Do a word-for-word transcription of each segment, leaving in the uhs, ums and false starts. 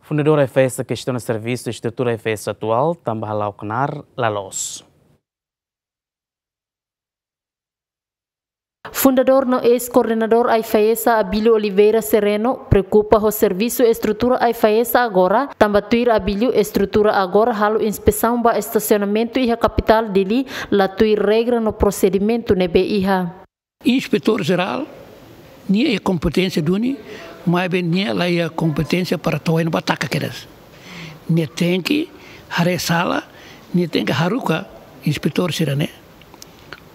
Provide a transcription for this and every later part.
Fundadór AIFAESA kestiona servisu estrutura AIFAESA atuál tanba hala'o knaar la loos. Fundadór no eis-koordenadór AIFAESA, Abílio Oliveira Sereno, preokupa ho servisu estrutura AIFAESA agora, tanba tuir Abílio, estrutura agora halo inspesaun ba estasionamentu iha kapitál Dili la tuir regra no prosedimentu ne'ebé iha. Inspetór Jerál, nia iha kompeténsia duni, maibé nia la iha kompeténsia para to'o iha ne'ebá taka kedas. Nia tenke haree sala, nia tenke haruka inspetór sira-ne'e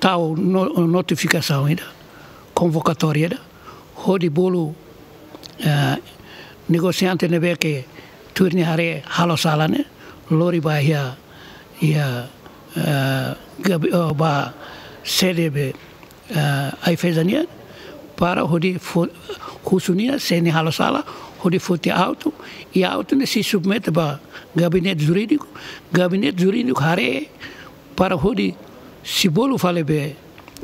tau no-, notifikasaun ida, konvokatória ida, hodi bolu, eh, negosiante ne'ebé ke tuir nia haree halo sala ne'e, lori ba iha, iha, eh, gabi-, oh, ba sede be, eh, AIFAESA nian, para hodi fo-, husu nia, se nia halo sala, hodi foti autu, i autu ne'e sei submete ba gabinete jurídiku, gabinete jurídiku haree, para hodi sei bolu fali be,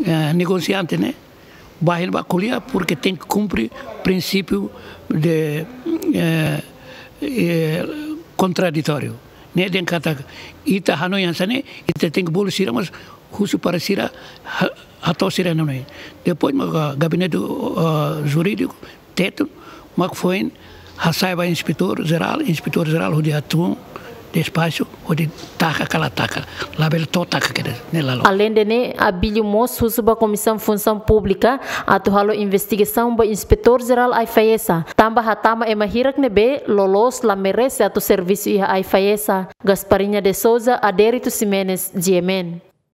eh, negosiante ne'e, bá iha ne'ebá ko'alia, porque tenke kumpre prinsípiu de, eh, eh, kontraditóriu. Ne'e dehan katak ita hanoin hanesan ne'e, ita tenke bolu sira, mas husu para sira ha-, hato'o sira-nia hanoin. Depois mak gabinete, eh, jurídiku, Tetun, mak foin hasai ba inspetór jerál, inspetór jerál hodi hatún despaxu, hodi taka ka la taka, labele to'o taka kedas, ne'e la loos. Aleinde ne'e, Abílio mós husu ba Komisaun Funsaun Públika atu halo investigasaun ba inspetór jerál AIFAESA, tanba hatama ema hirak ne'ebé loloos la merese atu servisu iha AIFAESA. Gasparinha de Souza, Adérito Ximenes, G M N.